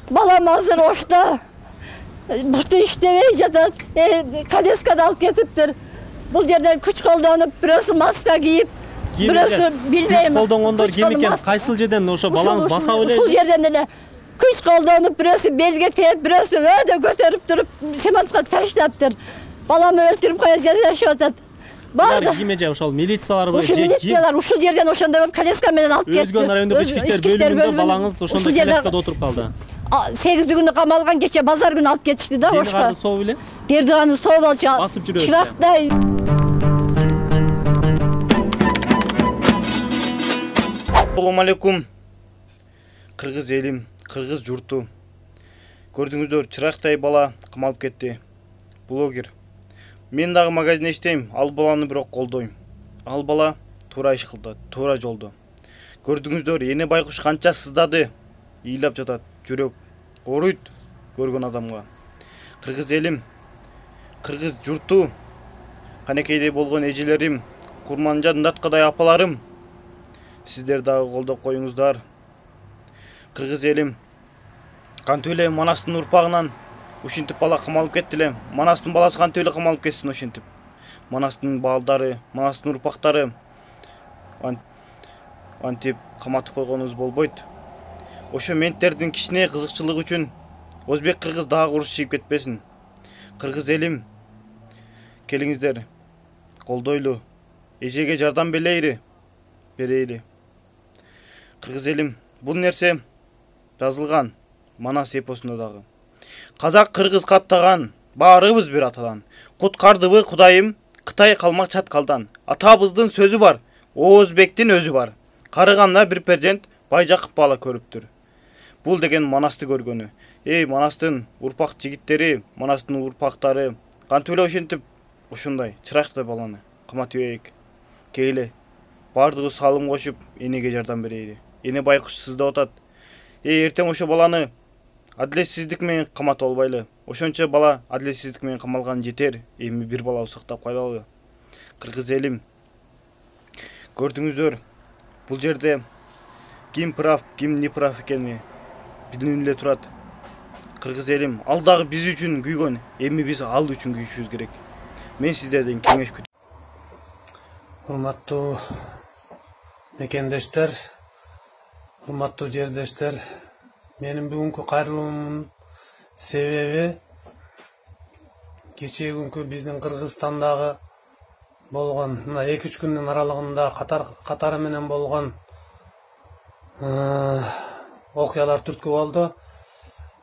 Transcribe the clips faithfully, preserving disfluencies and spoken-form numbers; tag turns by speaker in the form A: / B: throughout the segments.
A: Балам азыр ошто. Бұрты иштебей жатат. Коляскада алып кетиптир. Бул жерден күч колдонуп, бирөөсү маска кийип, бирөөсү билбейм.
B: Күч колдонгондор ким экен? Кайсыл жерден ошо балаңыз баса эле?
A: Ушул жерден эле күч колдонуп, бирөөсү белге тээп, бирөөсү өйдө көтөрүп туруп, семантка таштаптыр. Баламы өлтүрүп коя жашап атат.
B: Барды. Ким же ошол милицияларбы же ким?
A: Милициялар ушул жерден ошондо коляска менен алып кетти.
B: Өзгөн райондук ички иштер бөлүмүндө балаңыз ошондо коляскада отуруп калды.
A: сегиз күнү камалган, кече базар күнү алып кетишти да ошко.
B: Дердиганы соо беле?
A: Дердиганы соо болчу.
B: Басып жүрөт.
A: Чырактай.
C: Assalamu alaikum. Кыргыз элим, кыргыз журту. Көрдүңүздөр, чырактай бала камалып кетти. Блогер. Мен дагы магазинде иштейм, ал баланы бирок колдойм. Ал бала туура иш кылды, туура жолдо. Көрдүңүздөр, эне байкуш канча сыздады, ыйлап жатат, жүрөк ооруйт көргөн адамга. Кыргыз элим, кыргыз журту, канекейде болгон эжелерим, Курманжан даткадай апаларым, сиздер дагы колдоп коюңуздар. Кыргыз элим, кантип эле Манастын урпагынан ушинтип бала камалып кетти эле. Манастын баласы кантип эле камалып кетсин ошентип. Манастын балдары, Манастын урпактары антип каматып койгонубуз болбойт. Ошо менттердин кичине кызыкчылыгы үчүн өзбек кыргыз дагы уруш чыгып кетпесин. Кыргыз элим, келиңиздер, колдойлу, эжеге жардам берейли, берейли. Кыргыз элим, бул нерсе жазылган Манас эпосунда дагы. Казак кыргыз каттаган, баарыбыз бир атадан. Куткардыбы Кудайым, Кытай калмак чаткалдан. Атабыздын сөзү бар, Оозбектин өзү бар. Карыганда бир перзент Байжакып бала көрүптүр. Бул деген Манасты көргөнү. Эй, Манастын урпак жигиттери, Манастын урпактары, кантип эле ошентип ушундай чырактай баланы каматып ийик. Келе, бардыгы салым кошуп, энеге жардам берейли. Эне байкуш сыздап атат. Эй, эртең ошо баланы адилетсиздик менен каматып албайлы. Ошончо бала адилетсиздик менен камалган жетер. Эми бир бала сактап кайлалы. Кыргыз элим, көрдүңүздөр, бул жерде ким прав, ким не прав экени билинип эле турат. Кыргыз элим, ал дагы биз үчүн күйгөн, эми биз ал үчүн күйүшүбүз керек. Мен сиздерден кеңеш күтөм.
D: Урматтуу мекендештер, урматтуу жердештер, менин бүгүнкү кайрылуумдун себеби кечээ күнкү биздин Кыргызстандагы болгон мына эки үч күндүн аралыгында катар катары менен болгон окуялар түрткү болду.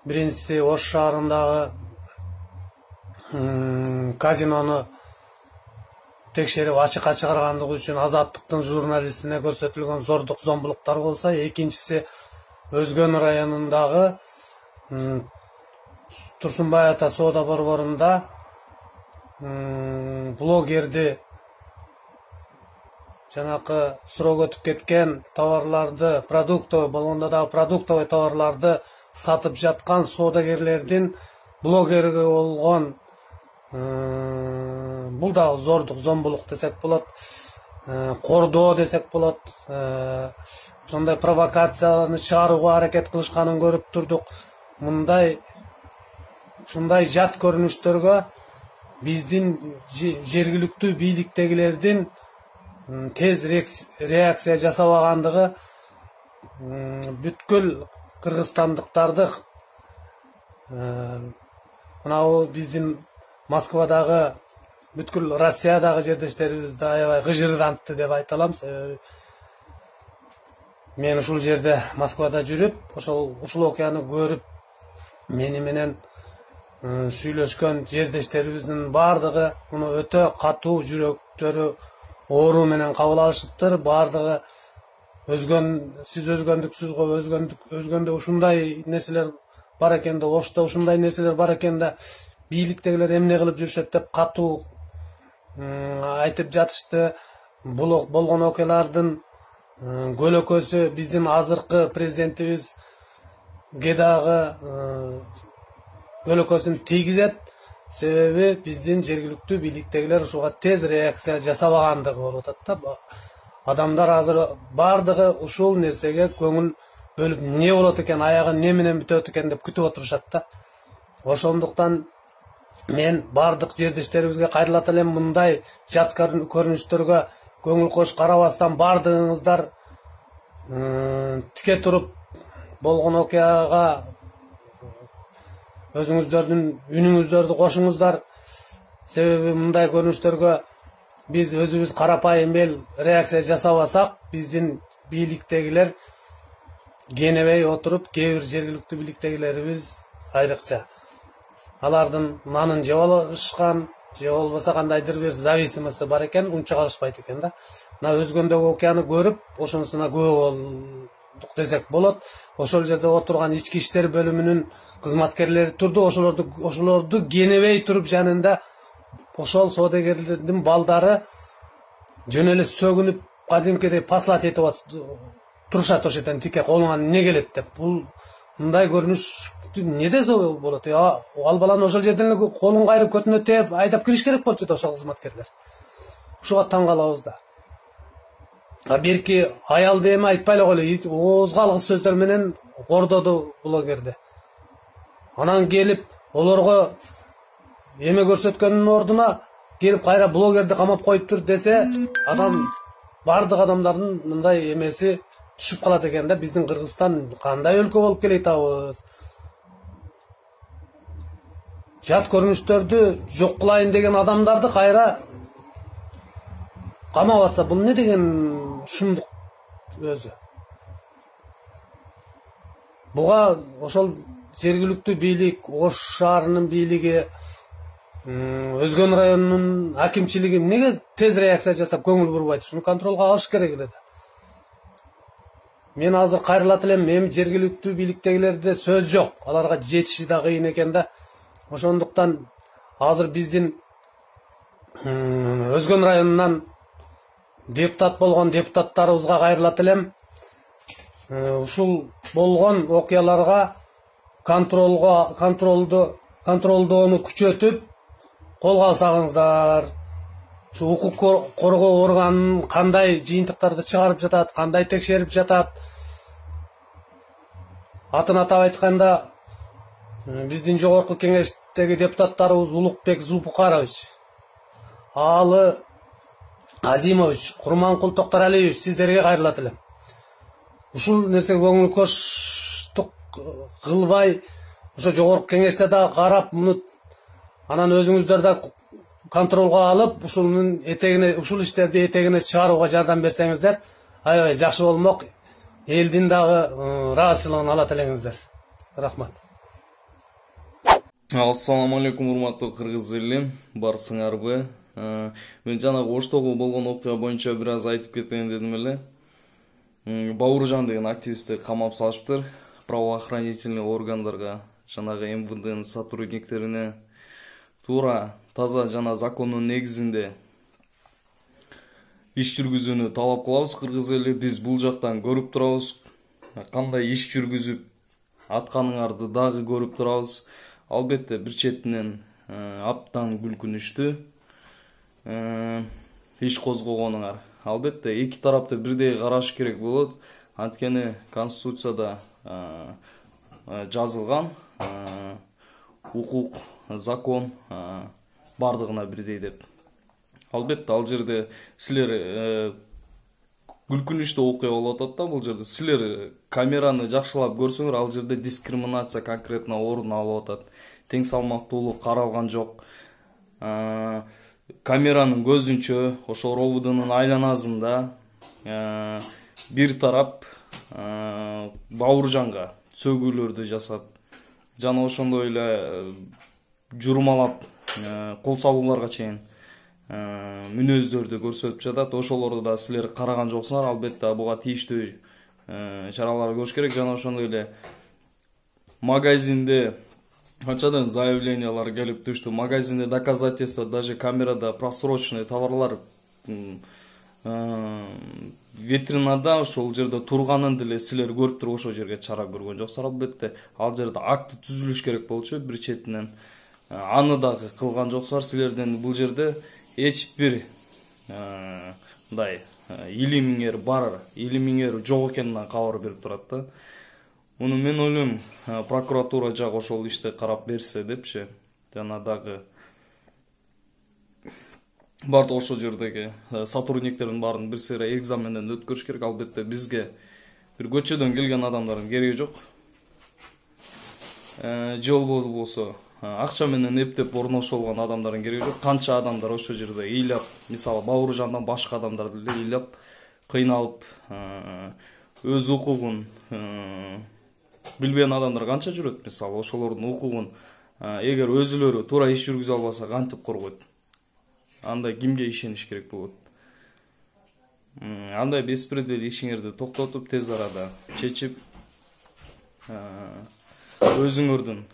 D: Биринчиси Ош шаарындагы казинону текшерип ачыкка чыгаргандыгы үчүн Азаттыктын журналистине көрсөтүлгөн зордук зомбулуктар болсо, экинчиси Өзгөн районундагы Турсунбай ата соода борборунда блогерди жанакы суроо өтүп кеткен товарларды, продуктовый болгондо дагы продуктовый товарларды сатып жаткан соодагерлердин блогерге болгон бул дагы зордук зомбулук десек болот, кордоо десек болот. Ошондой провокацияны чыгарууга аракет кылышканын көрүп турдук. Мындай ушундай жат көрүнүштөргө биздин жергиликтүү бийликтегилердин тез реакция жасабагандыгы бүткүл кыргызстандыктарды мынабу биздин Москвадагы бүткүл Россиядагы жердештерибизди аябай гыжырдантты деп айта алам. Себеби мен ушул жерде Москвада жүрүп, ошол ушул окуяны көрүп, мени менен сүйлөшкөн жердештерибиздин бардыгы муну өтө катуу, жүрөктөрү оору менен кабыл алышыптыр. Бардыгы өзгөн, сиз өзгөндүксүз го, өзгөндүк өзгөндө ушундай нерселер бар экен да, Ошто ушундай нерселер бар экен да, бийликтегилер эмне кылып жүрүшөт деп катуу айтып жатышты. Бул болгон окуялардын көлөкөсү биздин азыркы президентибизге дагы көлөкөсүн тийгизет. Себеби биздин жергиликтүү бийликтегилер ушуга тез реакция жасабагандыгы болуп атат да. Адамдар азыр бардыгы ушул нерсеге көңүл бөлүп эмне болот экен, аягы эмне менен бүтөт экен деп күтүп отурушат да. Ошондуктан мен бардык жердештерибизге кайрылат элем, мындай жат көрүнүштөргө көңүл кош карабастан бардыгыңыздар тике туруп болгон окуяга өзүңүздөрдүн үнүңүздөрдү кошуңуздар. Себеби мындай көрүнүштөргө биз өзүбүз карапайым эл реакция жасабасак, биздин бийликтегилер кенебей отуруп, кээ бир жергиликтүү бийликтегилерибиз айрыкча алардын нанын жеп алышкан, же болбосо кандайдыр бир зависимости бар экен, унча калышпайт экен да. Мына өзгөндөгү окуяны көрүп, ошонусуна күбө болдук десек болот. Ошол жерде отурган ички иштер бөлүмүнүн кызматкерлери турду, ошолорду ошолорду кенебей туруп жанында ошол соодагерлердин балдары жөн эле сөгүнүп, кадимкидей послать этип турушат ошол жерден тике колуңан эмне келет деп. Бул мындай көрүнүш эмне десе болот? Ал баланы ошол жерден эле колун кайрып көтүнө тээп айдап кириш керек болчу да ошол кызматкерлер. Ушуга таң калабыз да. А берки аял деме айтпай эле койлу, оозго алгыс сөздөр менен кордоду блогерди. Анан келип олорго эме көрсөткөндүн ордуна келип кайра блогерди камап коюптур десе, адам бардык адамдардын мындай эмеси түшүп калат экен да. Биздин Кыргызстан кандай өлкө болуп келет атабыз? Жат көрүнүштөрдү жок кылайын деген адамдарды кайра камап атса, бул эмне деген шумдук өзү? Буга ошол жергиликтүү бийлик, Ош шаарынын бийлиги, Өзгөн районунун акимчилиги эмнеге тез реакция жасап көңүл бурбайт? Ушуну контролго алыш керек эле да. Мен азыр кайрылат элем, эми жергиликтүү бийликтегилерде сөз жок. Аларга жетиши да кыйын экен да. Ошондуктан азыр биздин Өзгөн районунан депутат болгон депутаттарыбызга кайрылат элем. Ушул болгон окуяларга контролго контролду контролдоону күчөтүп колго алсаңыздар. Ушу укук коргоо органын кандай жыйынтыктарды чыгарып жатат, кандай текшерип жатат. Атын атап айтканда, биздин жогорку кеңештеги депутаттарыбыз Улукбек Зулпукарович, Алы Азимович, Курманкул Токтаралиевич, сиздерге кайрылат элем. Ушул нерсеге көңүл коштук кылбай, ошо жогорку кеңеште да карап, муну анан өзүңүздөр да контролго алып, ушунун этегине, ушул иштерди этегине чыгарууга жардам берсеңиздер, аябай жакшы болмок. Элдин дагы ыраазычылыгын алат элеңиздер. Рахмат.
E: Ассаламу алейкум, урматтуу кыргыз эли, барсыңарбы? Мен жанагы Оштогу болгон окуя боюнча бир аз айтып кетейин дедим эле. Бауыржан деген активистти камап салышыптыр. Правоохранительный органдарга, жанагы эм вэ дэнын сотрудниктерине туура, таза жана закондун негизинде иш жүргүзүүнү талап кылабыз. Кыргыз эли, биз бул жактан көрүп турабыз. Кандай иш жүргүзүп атканыңарды дагы көрүп турабыз. Албетте бир четинен абдан күлкүнүчтүү иш козгогонуңар. Албетте эки тарапты бирдей караш керек болот. Анткени Конституцияда жазылган укук, закон бардыгына бирдей деп. Албетте ал жерде силер күлкүнүчтүү окуя болуп атат да, бул жерде силер камераны жакшылап көрсөңөр, ал жерде дискриминация конкретно орун алып атат. Тең салмактуулук каралган жок. Камеранын көзүнчө ошо ровудунун айланасында бир тарап Бауыржанга сөгүүлөрдү жасап, жана ошондой эле журмалап, кол салууларга чейин мүнөздөрдү көрсөтүп жатат. Ошолорду да силер караган жоксуңар. Албетте буга тийиштүү чаралар көрүш керек. Жана ошондой эле магазинде канчадан заявлениялар келип түштү. Магазинде доказательства, даже камерада просроченный товарлар витринада ошол жерде турганын деле силер көрүп туруп ошол жерге чара көргөн жоксуңар. Албетте ал жерде акты түзүлүш керек болчу бир четинен. Аны дагы кылган жоксуңар. Силерден бул жерде эч бир мындай илимиңер бар, илимиңер жок экениnden кабар берип турат да. Муну мен ойлойм, прокуратура жагы ошол ишти карап берсе депчи. Жана дагы бардык ошол жердеги сотрудниктердин баарын бир сыйра экзаменден өткөрүш керек. Албетте бизге бир көчөдөн келген адамдардын кереги жок. Же болбосо акча менен эптеп орношо болгон адамдардын кереги жок. Канча адамдар ошол жерде ыйлап, мисалы Бауыржандан башка адамдарды эле ыйлап, кыйналып, өз укугун билбеген адамдар канча жүрөт. Мисалы ошолордун укугун эгер өзүлөрү туура иш жүргүзө албаса кантип коргойт? Андай кимге ишениш керек болот? Андай беспредел ишиңерди токтотуп, тез арада чечип, өзүңөрдүн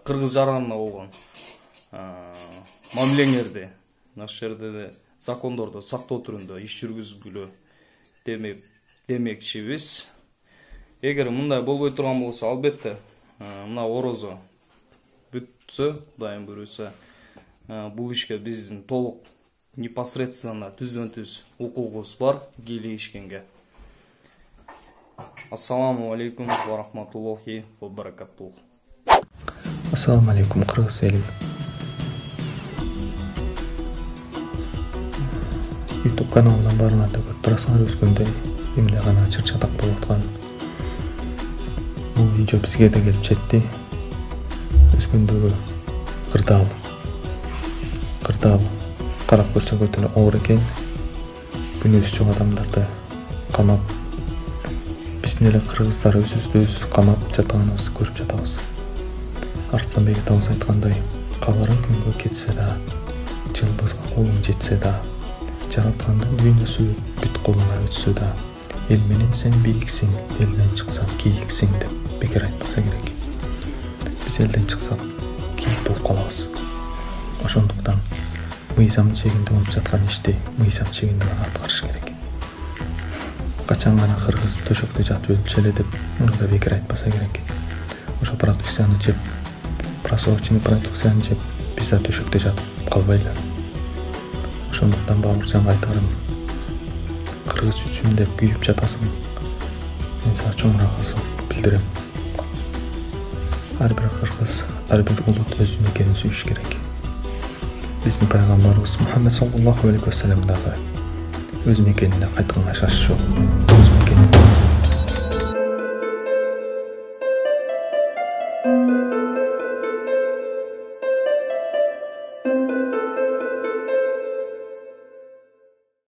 E: кыргыз жаранына болгон мамилеңерди ошол жерде закондорду сактоо түрүндө иш жүргүзгүлө демек демекчибиз. Эгер мындай болбой турган болсо, албетте мына орозо бүтсө, дайым бүрүсө, бул ишке биздин толук непосредственно түздөн-түз укугубуз бар кийлигишкенге. Ассаламу алейкум ва рахматуллахи ва баракатух.
F: Ассаламу алейкум, кыргыз эли. YouTube каналынан баарыңарды көрүп турасыңар, өскөндө эмне гана чыр-чатак болуп аткан. Бул видео бизге да келип жетти. Өскөндөгү кырдаал. Кырдаал карап көрсөк өтө эле оор экен. Күнөөсү жок адамдарды камап, биздин эле кыргыздар өзүбүздү өз камап жатканыбызды көрүп жатабыз. Арыстанбек атабыз айткандай, кабарың күнгө кетсе да, жылдызга колуң жетсе да, жараткандын дүйнөсү бүт колуңа өтсө да, эл менен сен бийиксиң, элден чыксаң кийиксиң деп бекер айтпаса керек. Биз элден чыксак кийик болуп калабыз. Ошондуктан мыйзам чегинде болуп жаткан ишти мыйзам чегинде гана аткарыш керек. Качан гана кыргыз төшөктө жатып өлчү эле деп муну да бекер айтпаса керек. Ошо продукцияны жеп, просроченный продукцияны жеп, биз да төшөктө жатып калбайлы. Ошондуктан Бауыржанга айтарым, кыргыз үчүн деп күйүп жатасың. Мен сага чоң ыраазычылык билдирем. Ар бир кыргыз, ар бир улут өз мекенин сүйүш керек. Биздин пайгамбарыбыз Мухаммед саллаллаху алейхи ва саллям дагы өз мекенине кайтканга шаш жок. Өз мекени